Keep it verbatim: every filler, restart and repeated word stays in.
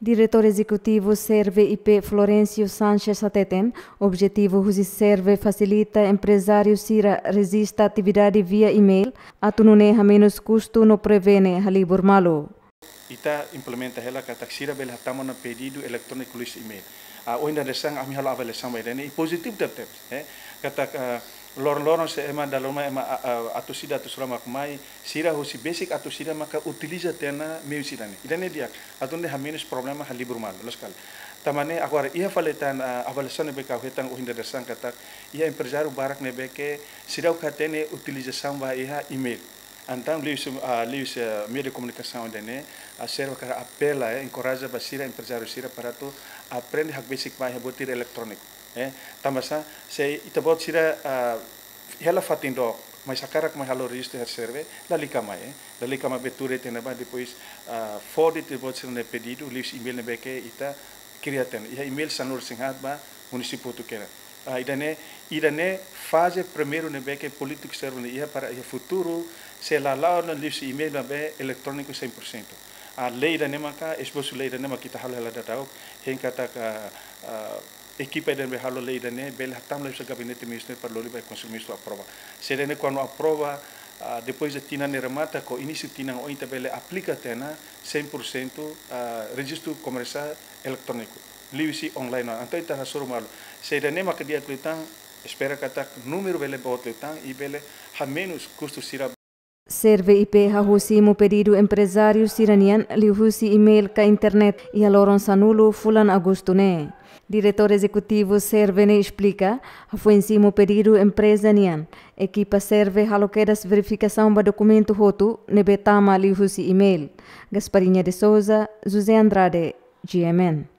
Diretór Ezekutivu Serve I P Florencio Sanches hateten, objetivu husi Serve fasilita emprezáriu sira rejista atividade via email, atu nune'e hamenus kustu no prevene halibur malu. Ita implementa hela katak sira bele hatama ona pedidu eletróniku liuhusi email. Ah, ohin dadeer-saan ami halo avaliasaun ba ida-ne'e i pozitivu tebes, eh. Katak, ah, loron-loron se ema dala ruma ema, ah, ah, atus ida atus rua mak mai, sira husi besik atus ida maka utiliza tiha ona meius ida-ne'e. Ida-ne'e di'ak, atu nune'e hamenus problema halibur malu, loos ka lae. Tanba ne'e agora iha fali tan, ah, avaliasaun ne'ebé ke ha'u hetan ohin dadeer-saan katak, iha emprezáriu barak ne'ebé ke seidauk hatene utilizasaun ba iha email. Entaun, liuhusi, ah, liuhusi, ah, meiu de komunikasaun ida-ne'e, ah, Serve hakarak apela, eh, enkoraja ba sira emprezáriu sira para atu aprende hakbesik ba iha botir eletróniku, eh. Tanba sá, se ita-boot sira, ah, hela fatin dook, mais hakarak mai halo rejistu iha Serve, lalika mai, eh. Lalika mai bele tuur tiha ona ba, depois, ah, fó de'it ita-boot sira-nia pedidu, liuhusi email ne'ebé ke ita kria tiha ona. Iha email sanulu-resin-haat ba munisípiu hotu kedas. Ah, ida-ne'e, ida-ne'e faze primeiru ne'ebé ke polítika Serve nia iha para iha futuru, sei la la'o ona liuhusi email maibé eletróniku cem por cento. Ah, lei ida-ne'e maka, esbosu lei ida-ne'e maka ita halo hela daudaun, hein katak, ah, ekipa ida ne'ebé halo lei ida-ne'e bele hatama liuhusi gabinete ministru para lori ba Konsellu Ministru aprova. Se ida-ne'e kuandu aprova, ah, depois de tinan ne'e remata, ka inísiu tinan oin ita bele aplika tiha ona cem por cento, ah, rejistu komersiál eletróniku liuhusi online ona. Entaun ita hasoru malu. Se ida-ne'e maka di'ak liután, espera katak númeru bele boot liután i bele hamenus kustu sira. Serve I P hahú simu pedidu emprezáriu sira-nian liuhusi email ka internet iha loron sanulu fulan Agostu ne'e. Diretór Ezekutivu Serve ne'e esplika, hafoin simu pedidu empreza nian, ekipa Serve halo kedas verifikasaun ba dokumentu hotu ne'ebé tama liuhusi email. Gasparinha de Souza, José Andrade, G M N.